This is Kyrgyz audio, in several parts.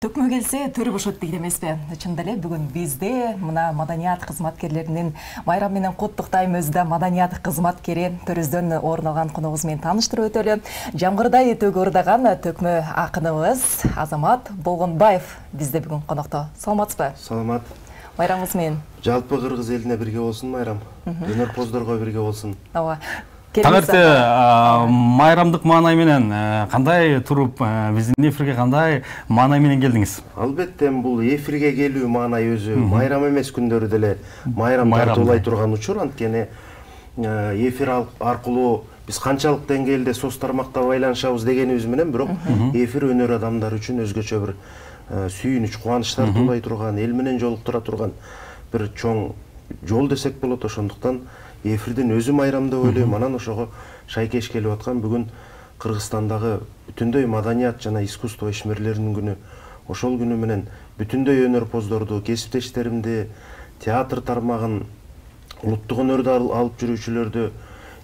Төкмө келсе төрү бошот дейт эмеспи? Чындап эле бүгүн бизде мына маданият кызматкерлеринин майрам менен куттуктаймыз да маданият кызматкери төрүздөн орун алган коногубуз менен тааныштырып өтөлү. Жамгырдай төгү ырдаган төкмө акыныбыз Азамат Болгонбаев бизде бүгүн конокто. Саламатсызбы? Саламат. Майрамыңыз менен. Жалпы кыргыз элине бирге болсун майрам. Өнөрпоздорго бирге болсун. Ооба. Таңерте майрамдык маанай менен кандай туруп биздин эфирге кандай маанай менен келдиңиз? Албетте бул эфирге келүү маанай өзү майрам эмес күндөрү деле майрам тартуулай турган учур, анткени эфир аркылуу биз канчалык деңгээлде соц тармакта байланышабыз дегенибиз менен, бирок эфир өнөр адамдары үчүн өзгөчө бир сүйүнүч, кубаныч тартуулай турган, эл менен жолуктура турган бир чоң жол десек болот. Ошондуктан эфирдин өзү майрам деп ойлойм. Анан ошого шайкеш келип аткан бүгүн Кыргызстандагы бүтүндөй маданият жана искусство ишмерлеринин күнү. Ошол күнү менен бүтүндөй өнөрпоздорду, кесиптештеримди, театр тармагын, улуттук өнөрдү алып жүрүүчүлөрдү,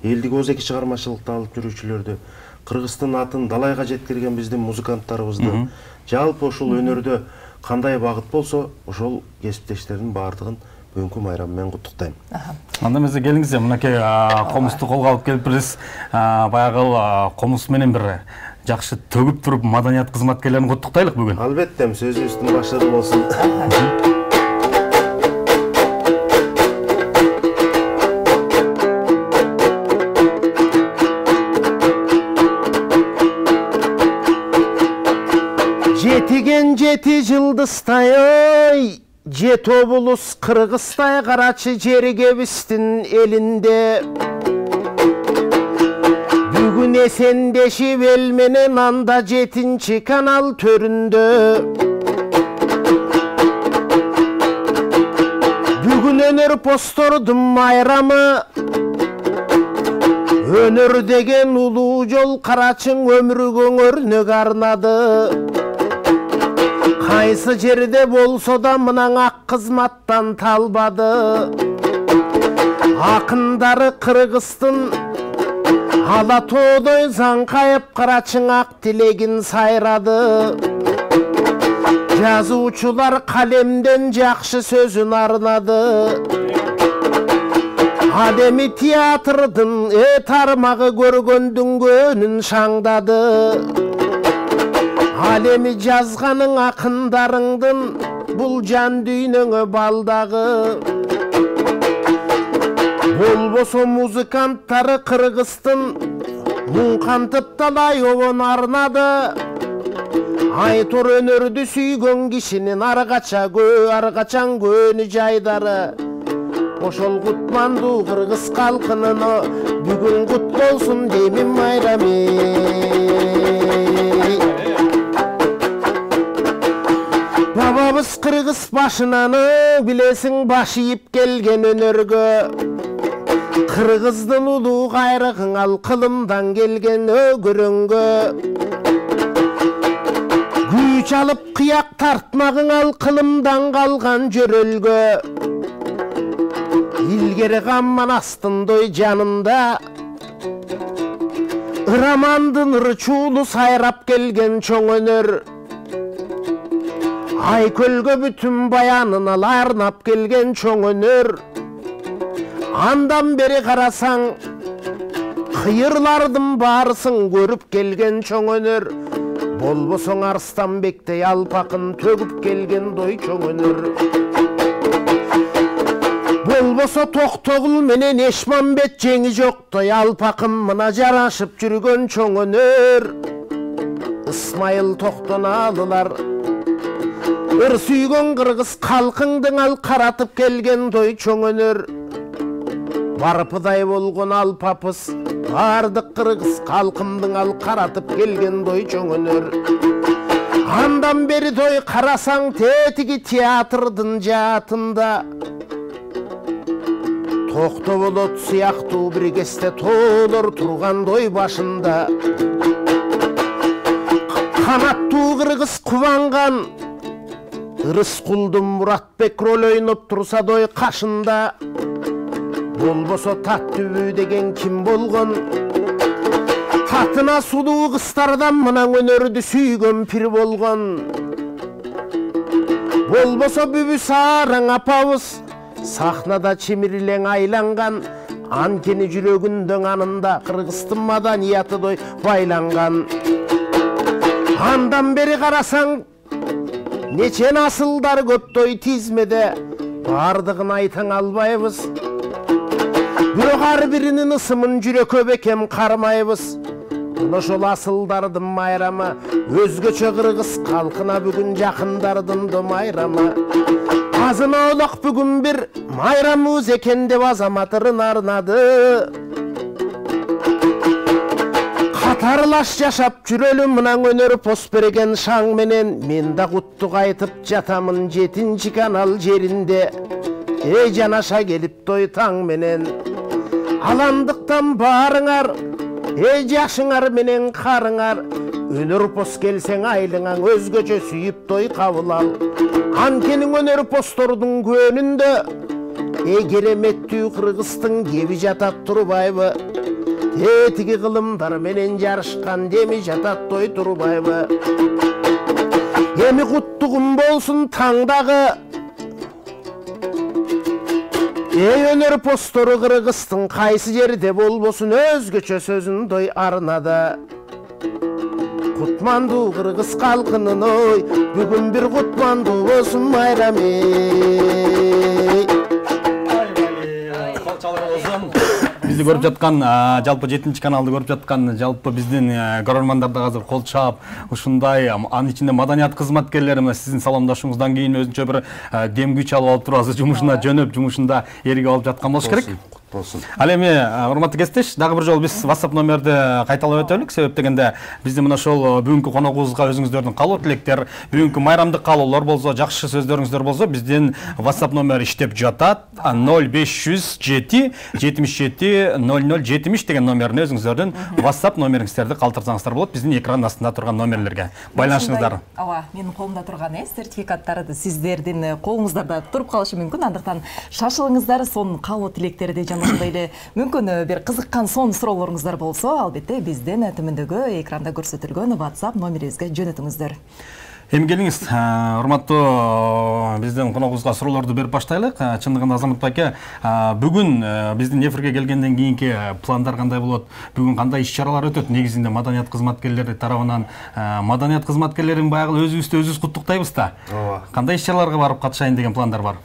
элдик ооз-эки чыгармачылыкты алып жүрүүчүлөрдү, Кыргыздын атын далайга жеткирген биздин музыканттарыбызды, жалпы ушул өнөрдө кандай багыт болсо, ошол кесиптештердин баардыгын бүгүнкү майрам менен куттуктайм. Анда эмесе келиңиз, мынакей комузду колго алып келипбиз. Баягы комуз менен бир жакшы төгүп туруп маданият кызматкерлерин куттуктайлык бүгүн. Албетте, сөзүбүздүн башы болсун. Жетиген жети жылдыздай ой, жет облус Кыргыздай карачы жерге биздин элинде. Бүгүн эсендешип эл менен анда 7-чи канал төрүндө. Бүгүн өнөрпоздордун майрамы, өнөр деген улуу жол карачың өмүргө өрнөк арнады. Кайсы жерде болсо да мынан ак кызматтан талбады. Акындары Кыргыздын ала тоодой заңкайып карачың ак тилегин сайрады. Жазуучулар калемден жакшы сөзүн арнады. Ал эми театрдын тармагы көргөндүн көнүн шаңдады. Ал эми жазганың акындарыңдын бул жан дүйнөңө балдагы. Болбосо музыканттары Кыргыздын муң кантып талай обон арнады. Айтор өнөрдү сүйгөн кишинин аргачаң көнү жайдары. Ошол кутмандуу кыргыз калкынын бүгүн кут болсун деймин майрами. Бабабыз кыргыз башынан билесиң баш ийип келген өнөргө. Кыргыздын улуу кайрыгың ал кылымдан келген өгөрөңгө. Күч алып кыяк тартмагың ал кылымдан калган жөрөлгө. Илгери камман астындой жанында ырамандын ырчуулу сайрап келген чоң өнөр. Айкөлгө бүтүн баянын ал арнап келген чоң өнөр. Андан бери карасаң кыйырлардын баарысын көрүп келген чоң өнөр. Болбосоң Арстанбектей алпакын төгүп келген дой чоң өнөр. Болбосо Токтогул менен Эшмамбет жеңи жоктой алпакын мына жарашып жүргөн чоң өнөр. Ысмайыл Токтоналылар ыр сүйгөн кыргыз калкыңдың ал каратып келген дой чоң өнөр. Барпыдай болгон алпапыз бардык кыргыз калкымдың ал каратып келген дой чоң өнөр. Андан бери той карасаң тетиги театрдын жаатында Токтоболот сыяктуу бир кезде тоолор турган дой башында. Канаттуу кыргыз кубанган Рыскулдун Муратбек роль ойноп турса дой кашында. Болбосо тат түбү деген ким болгон? Татына сулуу кыздардан мына өнөрдү сүйгөн пир болгон. болбосо бүбү сараң апабыз сахнада чимирлең айланган, анткени жүрөгүндө анында Кыргыздын маданияты байланган. Андан бери карасаң нече насылдар көптөй тизмеде, бардыгын айтаң албайбыз. Бирок ар биринин ысымын жүрөккө бекем кармайбыз. Ошол асылдардын майрамы, өзгөчө кыргыз калкына бүгүн жакындардын майрамы. Азына олак бүгүн бир майрамыбыз экен деп азаматырын арнады. Катарлаш жашап жүрөлү мынан өнөр пост берген шаң менен. Мен да куттук айтып жатамын 7-чи канал жеринде. Эй жанаша келип таң менен. Аландыктан баарыңар, эй жашыңар менен карыңар. Өнөр пост келсең айлыңаң өзгөчө сүйүп кабыл ал. Анткени өнөр посттордун көөнүндө эй кереметтүү Кыргыздын кеби жатат турбайбы? Тетиги кылымдар менен жарышкан деми жатат турбайбы? Эми куттугум болсун таңдагы. Эй өнөр посттору Кыргыздын кайсы жерде болбосун өзгөчө сөзүн арнада. Кутмандуу Кыргыз калкынын бүгүн бир кутмандуу болсун майрам эй. Бизди көрүп жаткан, жалпы 7-чи каналды көрүп жаткан, жалпы биздин көрөрмандар да азыр кол чаап, ушундай анын ичинде маданият кызматкерлери мына сиздин саламдашууңуздан кийин өзүнчө бир дем күч алып алып туруп азыр жумушуна жөнөп, жумушунда эригип алып жаткан болуш керек. Ал эми урматтуу кесиптеш, дагы бир жолу биз WhatsApp номерди кайталап өтөлүк. Себеп дегенде биздин мына ошол бүгүнкү коногубузга өзүңүздөрдүн каалоо тилектер, бүгүнкү майрамдык каалоолор болсо, жакшы сөздөрүңүздөр болсо, биздин WhatsApp номери иштеп жатат. 0507 77 0070 деген номерин өзүңүздөрдүн WhatsApp номериңиздерди калтырсаңыздар болот. Биздин экран астында турган номерлерге байланышыңыздар. Ооба, менин колумда турган сертификаттар сиздердин колуңуздарда туруп калышы мүмкүн. Андыктан шашылыңыздар, сонун каалоо тилектерди ошондой эле мүмкүн бир кызыккан сонун суроолоруңуздар болсо, албетте биздин төмөндөгү экранда көрсөтүлгөн WhatsApp номерибизге жөнөтүңүздөр. Эми келиңиз, урматтуу биздин коногубузга суроолорду берип баштайлык. Чындыгында Азамат байке, бүгүн биздин эфирге келгенден кийинки пландар кандай болот? Бүгүн кандай иш-чаралар өтөт? Негизинде маданият кызматкерлери тарабынан маданият кызматкерлерин баягы өзүбүздү өзүбүз куттуктайбыз да. Кандай иш-чараларга барып катышайын деген пландар бар?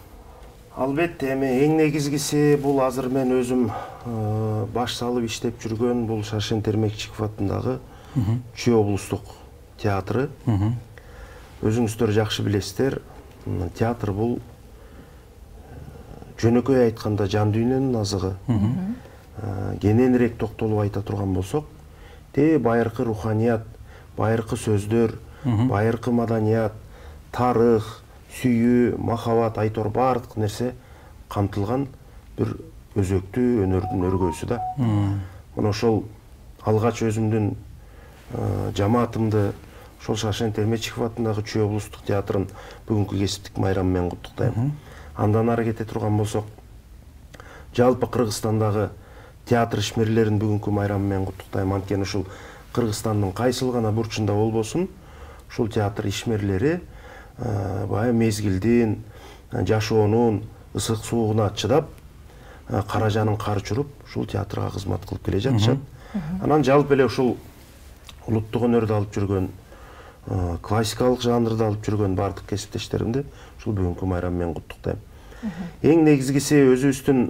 Албетте, эми эң негизгиси бул азыр мен өзүм баш салып иштеп жүргөн бул Шашен Термекчиков атындагы Чүй облустук театры. Өзүңүздөр жакшы билесиздер, театр бул жөнөкөй айтканда жан дүйнөнүн азыгы. Кененирээк токтолуп айта турган болсок, байыркы руханият, байыркы сөздөр, байыркы маданият, тарых, сүйүү, махабат, айтор баардык нерсе камтылган бир өзөктүү өнөрдүн өргөөсү да. Мына ошол алгач өзүмдүн жамаатымды ошол Шашен Термекчиков атындагы Чүй облустук театрын бүгүнкү кесиптик майрамы менен куттуктайм. Андан ары кете турган болсок, жалпы Кыргызстандагы театр ишмерлерин бүгүнкү майрамы менен куттуктайм. Анткени ушул Кыргызстандын кайсыл гана бурчунда болбосун, ушул театр ишмерлери бая мезгилдин, жашоонун ысык суугуна чыдап, каражанын кар чуруп, ушул театрга кызмат кылып келе жатышат. Анан жалпы эле ушул улуттук өнөрдү алып жүргөн, классикалык жанрды алып жүргөн бардык кесиптештеримди ушул бүгүнкү майрам менен куттуктайм. Эң негизгиси өзүбүздүн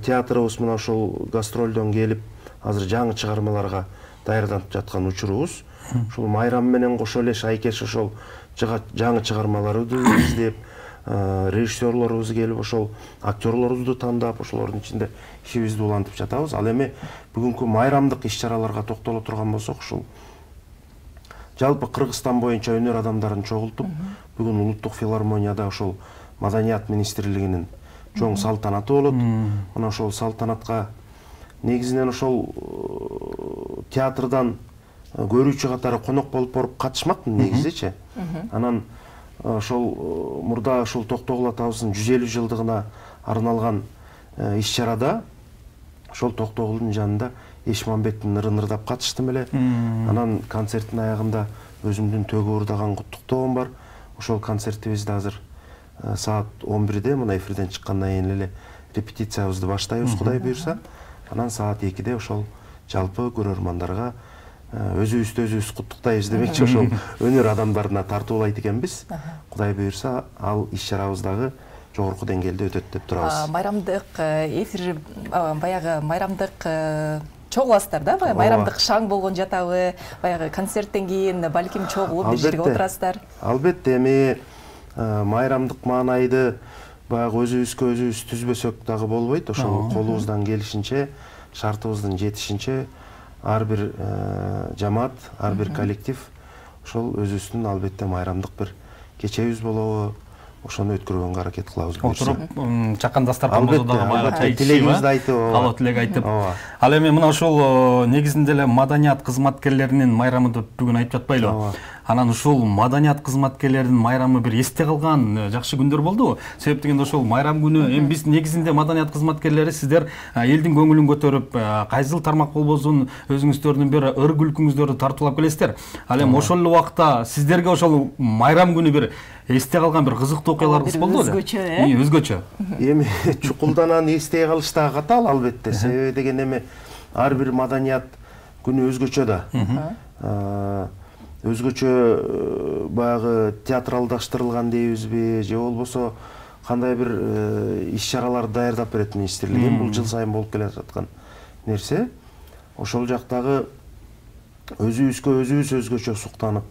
театрыбыз мына ушул гастролдон келип, азыр жаңы чыгармаларга даярданып жаткан учурубуз. Ушул майрам менен кошо эле шайкеш ошол жаңы чыгармаларды издеп, режиссерлорубуз келип ошол актерлорубузду тандап, ошолордун ичинде ишибизди улантып жатабыз. Ал эми бүгүнкү майрамдык иш-чараларга токтоло турган болсок, ушул жалпы Кыргызстан боюнча өнөр адамдарын чогултуп, бүгүн улуттук филармонияда ошол Маданият министрлигинин чоң салтанаты болот. Мына ошол салтанатка негизинен ошол театрдан көрүүчү катары конок болуп катышмакмын негизичи. Анан ошол мурда ошол Токтогул атабыздын 150 жылдыгына арналган иш-чарада ошол Токтогулдун жанында Эшмамбеттин ырын ырдап катыштым эле. Анан концерттин аягында өзүмдүн төгү ырдаган куттуктоом бар. ошол концертибизди азыр саат 11-де мына эфирден чыккандан кийин эле репетициябызды баштайбыз, Кудай буйрса. Анан саат 2-де ошол жалпы көрөрмандарга өзүбүздү өзүбүз куттуктайбыз демекчи, ошол өнөр адамдарына тартуулайт экенбиз. Кудай буйрса, ал иш-чарабыз дагы жогорку деңгээлде өтөт деп турабыз. Майрамдык эфир, баягы майрамдык чогуласыздар да, баягы майрамдык шаң болгон жатабы, баягы концерттен кийин балким чогулуп бир жерге отурасыздар. Албетте, эми майрамдык маанайды баягы өзүбүзгө өзүбүз түзбөсөк дагы болбойт. Ошол колубуздан келишинче, шартыбыздын жетишинче ар бир жамаат, ар бир коллектив ошол өзүбүздүн албетте майрамдык бир кечебиз болобу, ошону өткөргөнгө аракет кылабыз. Отуруп чакан дастарканыбызды дагы майга чай тилегибизди айтып, калоо тилек айтып. Ал эми мына ушул негизинде эле маданият кызматкерлеринин майрамы деп бүгүн айтып жатпайлыбы? Анан ушул маданият кызматкерлеринин майрамы бир эсте калган жакшы күндөр болдубу? Себеп дегенде ошол майрам күнү эми биз негизинде маданият кызматкерлери сиздер элдин көңүлүн көтөрүп, кайсыл тармак болбосун өзүңүздөрдүн бир ыр күлкүңүздөрдү тартуулап келесиздер. Ал эми ошол эле убакта сиздерге ошол майрам күнү бир эсте калган бир кызыктуу окуяларыңыз болдубу? Өзгөчө, Өзгөчө. Эми чукулданан эстей калыш дагы катаал албетте. Себеби деген эми ар бир маданият күнү өзгөчө да. Өзгөчө баягы театралдаштырылган дейбизби, же болбосо кандай бир иш-чараларды даярдап берет министрлик. Бул жыл сайын болуп келе жаткан нерсе. Ошол жактагы өзүбүзгө өзүбүз өзгөчө суктанып,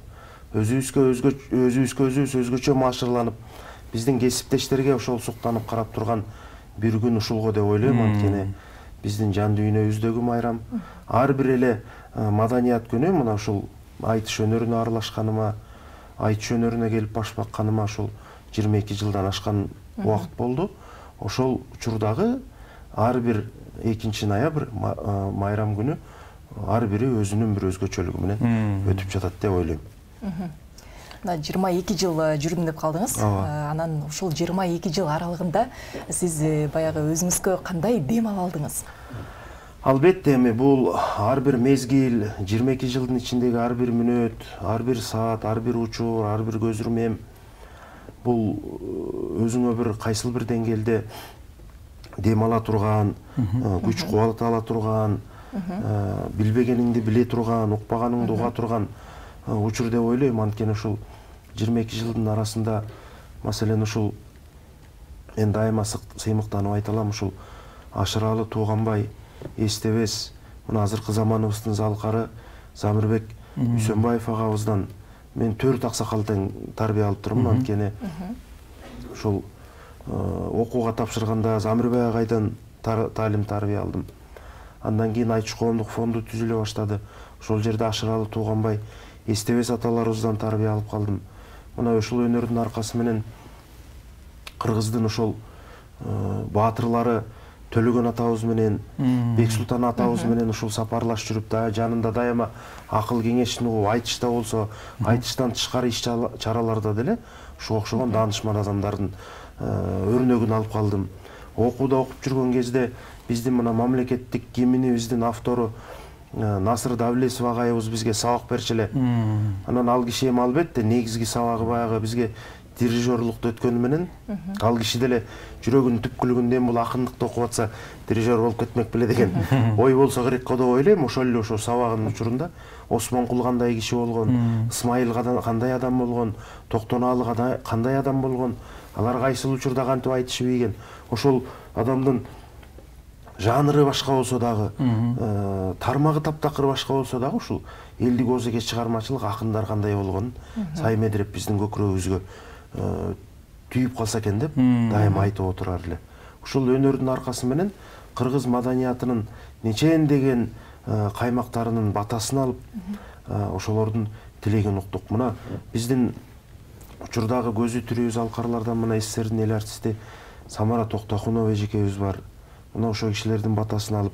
өзүбүзгө өзүбүз өзгөчө маашырланып, биздин кесиптештерге ошол суктанып карап турган бир күн ушулго деп ойлойм. Анткени биздин жан дүйнөбүздөгү майрам. Ар бир эле маданият күнү мына ушул айтыш өнөрүнө аралашканыма, айтыш өнөрүнө келип баш бакканыма ушул 22 жылдан ашкан убакыт болду. Ошол учурдагы ар бир 2-ноябрь майрам күнү ар бири өзүнүн бир өзгөчөлүгү менен өтүп жатат деп ойлойм. 22 жыл жүрдүм деп калдыңыз. Анан ушул 22 жыл аралыгында сиз баягы өзүңүзгө кандай дем ала алдыңыз? Албетте, эми бул ар бир мезгил, 22 жылдын ичиндеги ар бир мүнөт, ар бир саат, ар бир учур, ар бир көз ирмем бул өзүңө бир кайсыл бир деңгээлде дем ала турган, күч кубат ала турган, билбегениңди биле турган, укпаганыңды уга турган учур деп ойлойм. Анткени ушул 22 жылдын арасында, маселен ушул мен дайыма сыймыктанып айта алам, ушул Ашыралы Тууганбай эстебес мына азыркы заманыбыздын залкары Замирбек Үсөнбаев агабыздан мен 4 аксакал тең тарбия алып турмун. Анткени ушул окууга тапшырганда Замирбек агайдан таалим тарбия алдым. Андан кийин Айтыш коомдук фонду түзүлө баштады. Ошол жерде Ашыралы Тууганбай эстебес аталарыбыздан тарбия алып калдым. Мына ушул өнөрдүн аркасы менен кыргыздын ошол баатырлары Төлөгөн атабыз менен, Бексултан атабыз менен ушул сапарлаш жүрүп, жанында дайыма акыл кеңешин угуп, айтышта болсо, айтыштан тышкары иш-чараларда деле ушуга окшогон даанышман адамдардын өрнөгүн алып калдым. Окууда окуп жүргөн кезде биздин мына мамлекеттик гимнибиздин автору Насыр Давлесов агайыбыз бизге сабак берчү эле. Анан ал киши эми албетте негизги сабагы баягы бизге дирижерлукту өткөнү менен, ал киши деле жүрөгүнүн түпкүлүгүндөн бул акындыкты окуп атса дирижер болуп кетмек беле деген ой болсо керек го деп ойлойм. Ошол эле ошо сабагынын учурунда Осмонкул кандай киши болгон, Исмайыл кандай адам болгон, Токтонаалы кандай адам болгон, алар кайсыл учурда кантип айтышып ийген, ошол адамдын жанры башка болсо дагы, тармагы таптакыр башка болсо дагы ушул элдик оозеге чыгармачылык акындар кандай болгонун Сай Медреп биздин көкүрөгүбүзгө түйүп калса экен деп дайыма айтып отурар эле. Ушул өнөрдүн аркасы менен кыргыз маданиятынын нечендеген каймактарынын батасын алып, ошолордун тилегин уктук. Мына биздин учурдагы көзү тирүү залкарлардан мына СССРдин эл артисти Самара Токтохунова эжекебиз бар. Мына ошол кишилердин батасын алып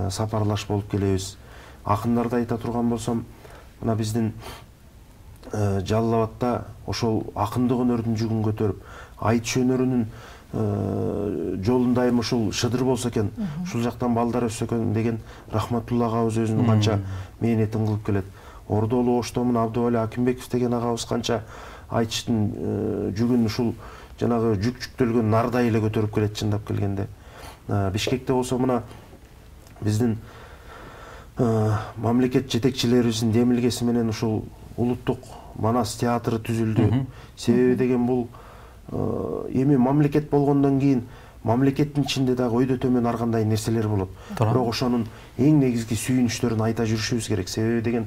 сапарлаш болуп келебиз. Акындарды айта турган болсом, мына биздин Жалал Абадта ошол акындык өнөрдүн жүгүн көтөрүп, айтыш өнөрүнүн жолундайым ушул шыдыр болсо экен, ушул жактан балдар өссө экен деген Рахматулла агабыз өзүнүн канча мээнетин кылып келет. Ордолуу Оштомун Абдывали Акимбеков деген агабыз канча айтыштын жүгүн ушул жанагы жүктөлгөн нардай эле көтөрүп келет чындап келгенде. Бишкекте болсо мына биздин мамлекет жетекчилерибиздин демилгеси менен ушул улуттук Манас театры түзүлдү. Себеби деген бул эми мамлекет болгондон кийин мамлекеттин ичинде дагы өйдө төмөн ар кандай нерселер болот. Бирок ошонун эң негизги сүйүнүчтөрүн айта жүрүшүбүз керек. Себеби деген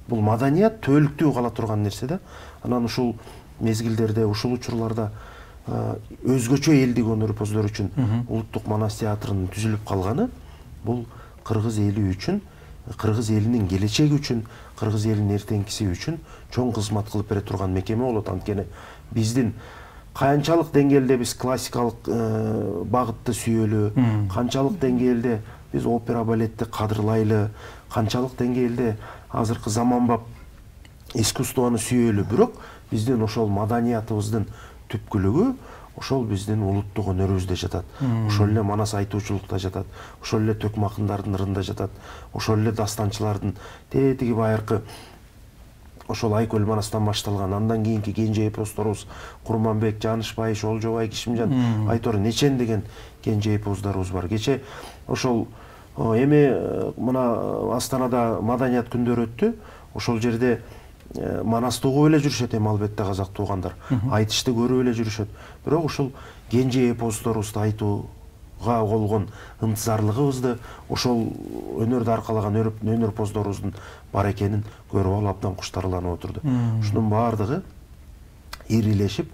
бул маданият төөлүктүү кала турган нерсе да. Анан ушул мезгилдерде, ушул учурларда өзгөчө элдик өнөр-поздар үчүн улуттук Манас театрынын түзүлүп калганы бул кыргыз эли үчүн, кыргыз элинин келечеги үчүн, кыргыз элинин эртеңкиси үчүн чоң кызмат кылып бере турган мекеме болот. Анткени биздин канчалык деңгээлде биз классикалык багытты сүйөлү, канчалык деңгээлде биз опера балетти кадырлайлы, канчалык деңгээлде азыркы заманбап искусствону сүйөлү, бирок биздин ошол маданиятыбыздын түпкүлүгү ошол биздин улуттук өнөрүбүздө жатат. Ошол эле Манас айтуучулукта жатат, ошол эле төк макындардын ырында жатат, ошол эле дастанчылардын тетиги байыркы ошол Айкөл Манастан башталган, андан кийинки кенже эпосторубуз Курманбек, Жанышбай, Шолжобай, Кишимжан, Айтор нечен деген кенже эпосторубуз бар. Кече ошол эми мына Астанада маданият күндөрү өттү. Ошол жерде Манасты угуп эле жүрүшөт эми албетте казак туугандар. Айтышты көрүп эле жүрүшөт. Бирок ушул кенже эпосторубузду айтууга болгон ынтызарлыгыбызды, ошол өнөрдү аркалаган өнөр-поздорубуздун бар экенин көрүп алып абдан куштарланып отурду. Ушунун баардыгы ирилешип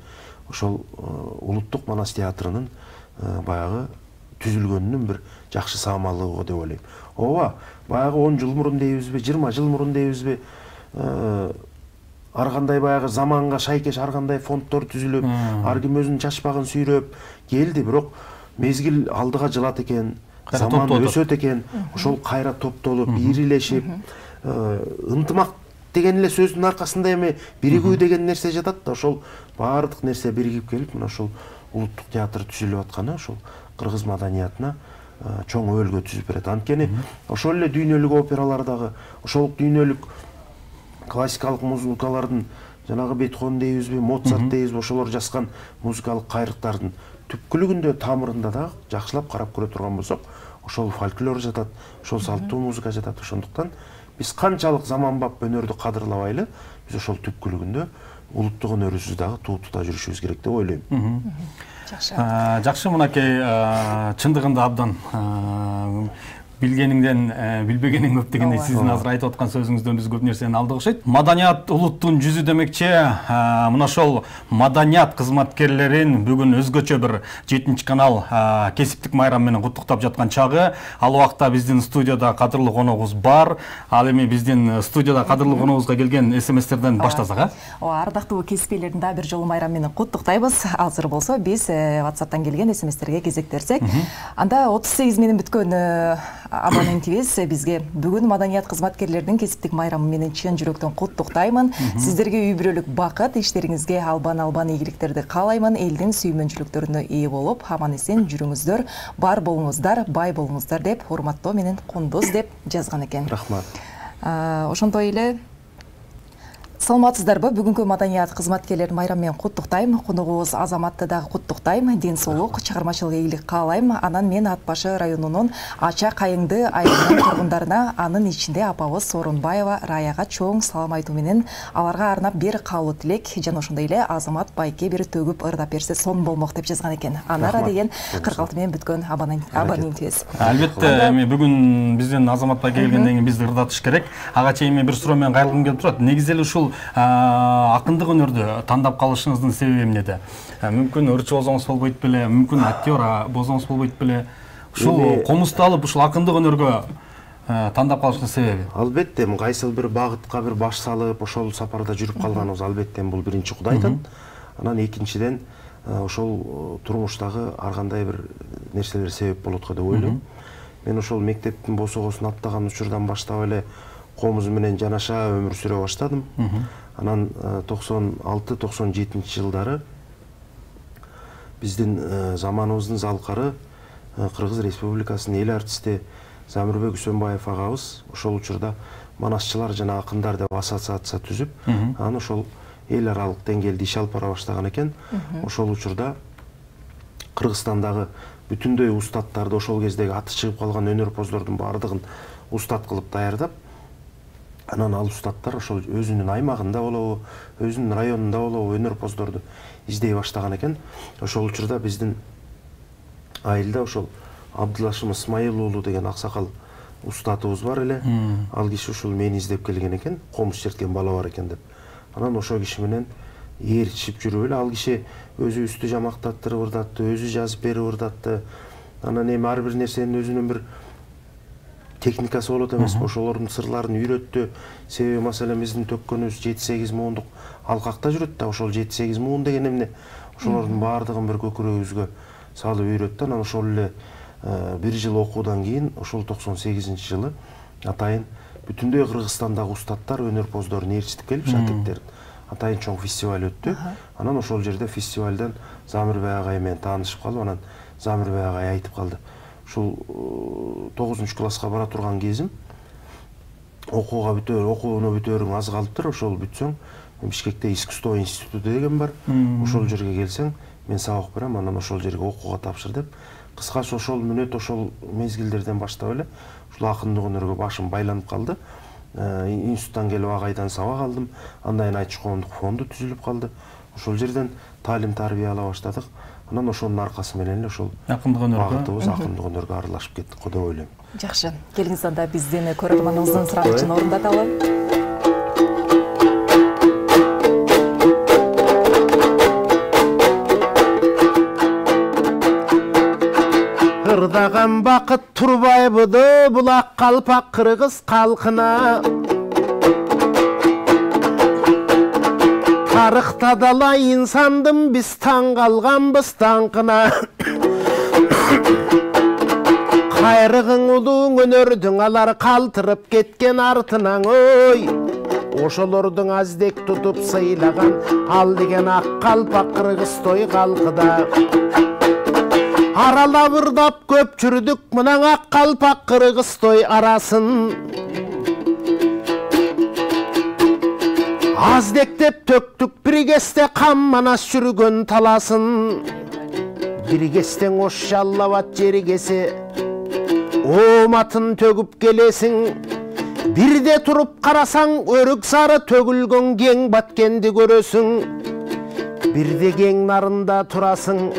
ошол улуттук Манас театрынын баягы түзүлгөнүнүн бир жакшы саамалдыгы деп ойлойм. Ооба, баягы 10 жыл мурун дейбизби, 20 жыл мурун дейбизби, ар кандай баягы заманга шайкеш ар кандай фонддор түзүлүп, ар ким өзүнүн чачпагын сүйрөп келди, бирок мезгил алдыга жылат экен, заман өсөт экен, ошол кайра топтолуп, ирилешип, ынтымак деген эле сөздүн аркасында эми биригүү деген нерсе жатат да, ошол баардык нерсе биригип келип, мына ошол улуттук театр түзүлүп атканы ошол кыргыз маданиятына чоң өөлгө түзүп берет. Анткени ошол эле дүйнөлүк опералардагы, ошол дүйнөлүк классикалык музыкалардын, жанагы Бетховен дейбизби, Моцарт дейбизби, ошолор жазган музыкалык кайрыктардын түпкүлүгүндө, тамырында да жакшылап карап көрө турган болсок, ошол фольклор жатат, ошол салттуу музыка жатат. Ошондуктан биз канчалык заманбап өнөрдү кадырлабайлы, биз ошол түпкүлүгүндө улуттук өнөрүбүздү дагы туутута жүрүшүбүз керек деп ойлойм. Жакшы, мынакей чындыгында абдан билгениңден билбегениң көп дегендей сиздин азыр айтып аткан сөзүңүздөн биз көп нерсени алдык окшойт. Маданият улуттун жүзү демекчи, мына ошол маданият кызматкерлерин бүгүн өзгөчө бир 7 канал кесиптик майрам менен куттуктап жаткан чагы. Ал убакта биздин студияда кадырлуу коногубуз бар. Ал эми биздин студияда кадырлуу коногубузга келген СМСтерден баштасак, ардактуу кесипкерлердин дагы бир жолу майрам менен куттуктайбыз. Азыр болсо биз WhatsApp'тан келген СМСтерге кезектирсек, анда 38 менен бүткөн абонентибиз бизге бүгүн маданият кызматкерлеринин кесиптик майрамы менен чын жүрөктөн куттуктаймын. Сиздерге үй бүлөлүк бакыт, иштериңизге албан ийгиликтерди каалаймын. Элдин сүймөнчүлүктөрүнө ээ болуп, аман эсен жүрүңүздөр, бар болуңуздар, бай болуңуздар деп урматтоо менен Кундуз деп жазган экен. Рахмат. Ошондой эле саламатсыздарбы? Бүгүнкү маданият кызматкерлерин майрам менен куттуктайм. Коногубуз Азаматты дагы куттуктайм. Ден соолук, чыгармачылык ийгилик каалайм. Анан мен Ат башы районунун Ача Кайыңды айылынын тургундарына, анын ичинде апабыз Сооронбаева Раяга чоң салам айтуу менен аларга арнап бир каалуу тилек жана ошондой эле Азамат байке бир төгүп ырдап берсе сон болмок деп жазган экен. Анара деген 46 менен бүткөн абонентибиз. Албетте, эми бүгүн биздин Азамат байке келгенден кийин бизди ырдатыш керек. Ага чейин бир суроо менен кайрылгым келип турат. Негизи эле ушул акындык өнөрдү тандап калышыңыздын себеби эмнеде? Мүмкүн ырчы болсоңуз болбойт беле, мүмкүн актер болсоңуз болбойт беле? Ушул комузду алып, ушул акындык өнөргө тандап калыштын себеби? Албетте, кайсыл бир багытка бир баш салып, ошол сапарда жүрүп калганыбыз албетте бул биринчи Кудайдан. Анан экинчиден ошол турмуштагы ар кандай бир нерселер себеп болот го деп ойлойм. Мен ошол мектептин босогосун аттаган учурдан баштап эле комуз менен жанаша өмүр сүрө баштадым. Анан 96-97 жылдары биздин заманыбыздын залкары Кыргыз Республикасынын эл артисти Замирбек Үсөнбаев агабыз ошол учурда манасчылар жана акындар деп ассоциация түзүп, анан ошол эл аралык деңгээлде иш алып бара баштаган экен. Ошол учурда Кыргызстандагы бүтүндөй устаттарды, ошол кездеги аты чыгып калган өнөрпоздордун баардыгын устат кылып даярдап, анан ал устаттар ошол өзүнүн аймагында болобу, өзүнүн районунда болобу өнөрпоздорду издей баштаган экен. Ошол учурда биздин айылда ошол Абдылашым Исмайыл уулу деген аксакал устатыбыз бар эле. Ал киши ушул мени издеп келген экен, комуз черткен бала бар экен деп. Анан ошол киши менен ээрчишип жүрүп эле ал киши өзүбүздү жамактаттырып ырдатты, өзү жазып берип ырдатты. Анан эми ар бир нерсенин өзүнүн бир техникасы болот эмеспи, ошолордун сырларын үйрөттү. Себеби маселен биздин төккөнүбүз 7-8 муундук алкакта жүрөт да, ошол 7-8 муун деген эмне? Ошолордун баардыгын бир көкүрөгүбүзгө салып үйрөттү. Анан ошол эле 1 жыл окуудан кийин, ошол 98-жылы атайын бүтүндөй Кыргызстандагы устаттар өнөрпоздорун ээрчитип келип, шакирттерин атайын чоң фестиваль өттү. Анан ошол жерде фестивалдан Замирбай агай менен таанышып калып, анан Замирбай агай айтып калды. Ушул 9-класска бара турган кезим, окууну бүтөөрүң аз калыптыр, ошол бүтсөң, Бишкекте искусство институту деген бар. Ошол жерге келсең, мен сабак берем, анан ошол жерге окууга тапшыр деп. Кыскасы ошол мүнөт ошол мезгилдерден баштап эле ушул акындык өнөргө башым байланып калды. Институттан келип агайдан сабак алдым. Андан кийин Айтыш коомдук фонду түзүлүп калды. Ошол жерден таалим тарбия ала баштадык. Анан ошонун аркасы менен эле ошол акындык акындык өнөргө аралашып кеттик го деп ойлойм. Жакшы. Келиңиз анда биздин көрөрманыбыздын сурагычын орундаталы. Ырдаган бакыт турбайбыды булак калпак кыргыз калкына. Тарыхта дала инсандын биз таң калганбыз таңкына. Кайрыгың улуң өнөрдүң алар калтырып кеткен артынан ой. Ошолордун аздек тутуп сыйлаган ал деген ак калпак кыргыз той калкыда. Аралап ырдап көп жүрдүк мына ак калпак кыргыз той арасын. Аздектеп төктүк бир кезде кам манас жүргөн таласын. Бир кестең ош жаллабат жергесе, ооматын төгүп келесиң. Бирде туруп карасаң, өрүк сары төгүлгөн кең баткенди көрөсүң. Бирде кең нарында турасың,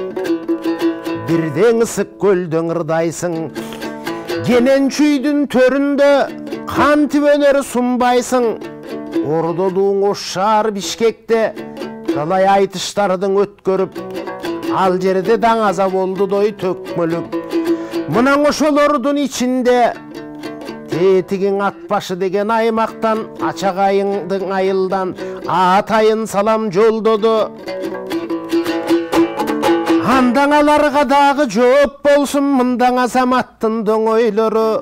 бирден ысык көлдөн ырдайсың. Кенен чүйдүн төрүндө кантип өнөр сунбайсың. Ордолууң ош шаар Бишкекте талай айтыштардын өткөрүп, ал жерде даңаза болду дой төкмөлүп. Мына ошолордун ичинде Тетигиң ат башы деген аймактан Ачагайыңдын айылдан атайын салам жолдоду. Андан аларга дагы жооп болсун мындан азаматтын доңойлору.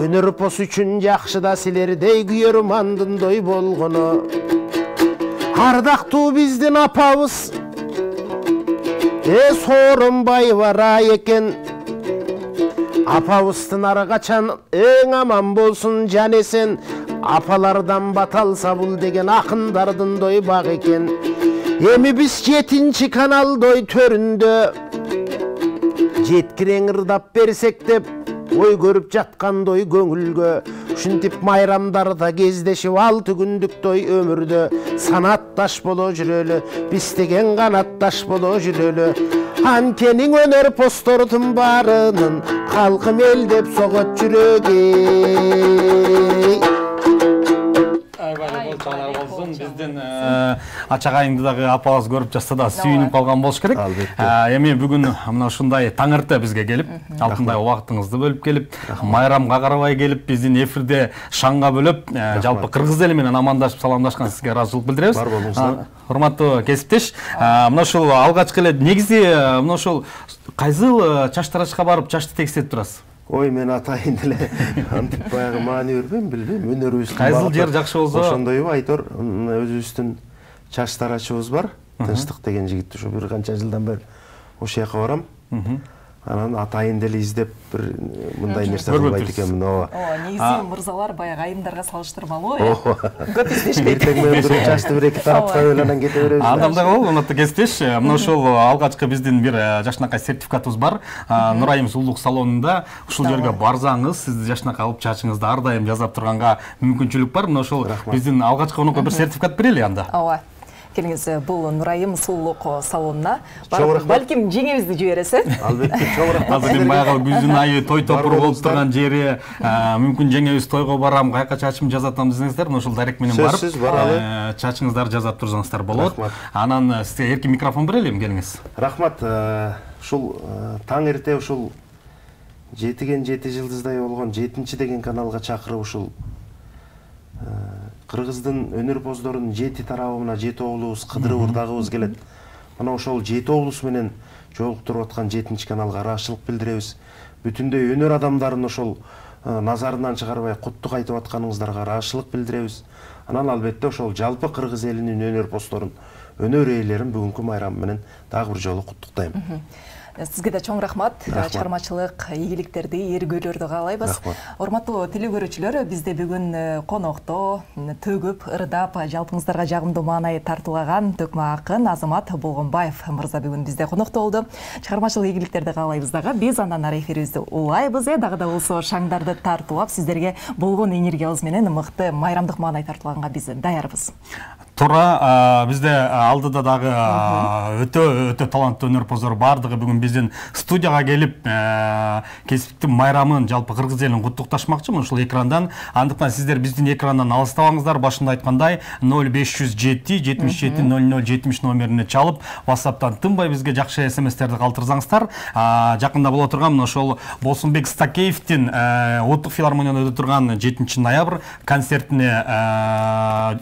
Өнөрпос үчүн жакшы да силердей күйөрмандын дой болгону. Ардактуу биздин апабыз Сооронбаева Рай экен. Апабыздын ар качан эң аман болсун жанесен. Апалардан баталса бул деген акындардын дой баг экен. Эми биз 7-канал дой төрүндө жеткирең ырдап берсек деп ой көрүп жаткан дой көңүлгө. Ушинтип майрамдарда кездешип 6 күндүк дой өмүрдө санатташ боло жүрөлү, биз деген канатташ боло жүрөлү. Анткени өнөрпоздордун баарынын калкым эл деп согот жүрөгү. Биздин Ачагайыңды дагы апабыз көрүп жатса да сүйүнүп калган болуш керек. Эми бүгүн мына ушундай таң эрте бизге келип, алтындай убактыңызды бөлүп келип, майрамга карабай келип, биздин эфирде шаңга бөлөп, жалпы кыргыз эли менен амандашып саламдашкан сизге ыраазычылык билдиребиз. Бар болуңуздар. Урматтуу кесиптеш, мына ушул алгачкы эле негизи мына ушул кайсыл чач тарачка барып чачты текстетип турасыз? Ой, мен атайын деле антип баягы маани бербейм, билбейм. Өнөрүбүз кайсыл жер жакшы болсо ошондойбу айтор. Өзүбүздүн чач тарачыбыз бар. Тынчтык деген жигит ушу бир канча жылдан бери ошол жака барам. анан атайын деле издеп бир мындай нерсе кылбайт экенмин. Ооба. Негизи мырзалар баягы айымдарга салыштырмалуу э. Көп издешпейт. Эртең менен туруп чачты бир эки таратпай эле анан кете беребиз. Андамда болду, урматтуу кесиптеш. Мына ошол алгачкы биздин бир жашынакай сертификатыбыз бар. Нурайым сулуулук салонунда ушул жерге барсаңыз, сизди жашынакай алып чачыңызды ар дайым жасап турганга мүмкүнчүлүк бар. Мына ошол биздин алгачкы конокко бир сертификат берели анда. Ооба. Келиңиз, бул Нурайым сулуулук салонуна барып, балким жеңебизди жибересиз э? Албетте, чоң рахмат. Азыр баягы күздүн айы той топур болуп турган жери, мүмкүн жеңебиз тойго барам, каяка чачымды жасатам десеңиздер, мына ошол дарек менен барып, чачыңыздарды жасап турсаңыздар болот. Анан сизге эркин микрофон берелим, келиңиз. Рахмат. Ушул таң эрте ушул 7 жылдыздай болгон 7 деген каналга чакырып ушул Кыргыздын өнөр боздорунун 7 тарабына 7 оглубуз, кыдырып ырдагыбыз келет. Мына ошол 7 оглубуз менен жолуктуруп аткан 7 каналга ыраазычылык билдиребиз. Бүтүндөй өнөр адамдарын ошол назарынан чыгарбай куттук айтып атканыңыздарга ыраазычылык билдиребиз. Анан албетте ошол жалпы кыргыз элинин өнөр боздорун, өнөр ээлерин бүгүнкү майрам менен дагы бир жолу куттуктайм. Сизге да чоң рахмат. Чыгармачылык ийгиликтерди, эргүүлөрдү каалайбыз. Урматтуу теле көрүүчүлөр, бизде бүгүн конокто төгүп, ырдап, жалпыңыздарга жагымдуу маанай тартуулаган төкмө акын Азамат Болгонбаев мырза бүгүн бизде конокто болду. Чыгармачылык ийгиликтерди каалайбыз дагы. Биз андан ары эфирибизди улайбыз, дагы да болсо шаңдарды тартуулап, сиздерге болгон энергиябыз менен мыкты майрамдык маанай тартуулаганга биз даярбыз. Туура, бизде алдыда дагы өтө таланттуу өнөрпоздор бардыгы бүгүн биздин студияга келип, кесиптин майрамын, жалпы кыргыз элин куттукташмакчы ушул экрандан. Андыктан сиздер биздин экрандан алыстабаңыздар. Башында айткандай 0507 77 00 70 номерине чалып, WhatsApp'тан тынбай бизге жакшы SMS-терди калтырсаңыздар. Жакында боло турган мына ошол Болсунбек Стакеевдин Улуттук филармонияда өтө турган 7 ноябрь концертине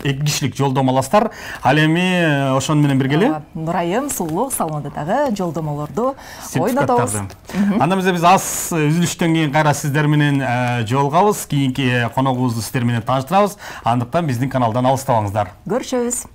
2 кишилик жолдомо аласыздар. Ал эми ошону менен биргеле Нурайым сулуулук салонунда дагы жолдомолорду ойнотобуз. Анда биз аз үзүлүштөн кийин кайра сиздер менен жолугабыз. Кийинки коногубузду сиздер менен тааныштырабыз. Андыктан биздин каналдан алыстабаңыздар. Көрүшөбүз.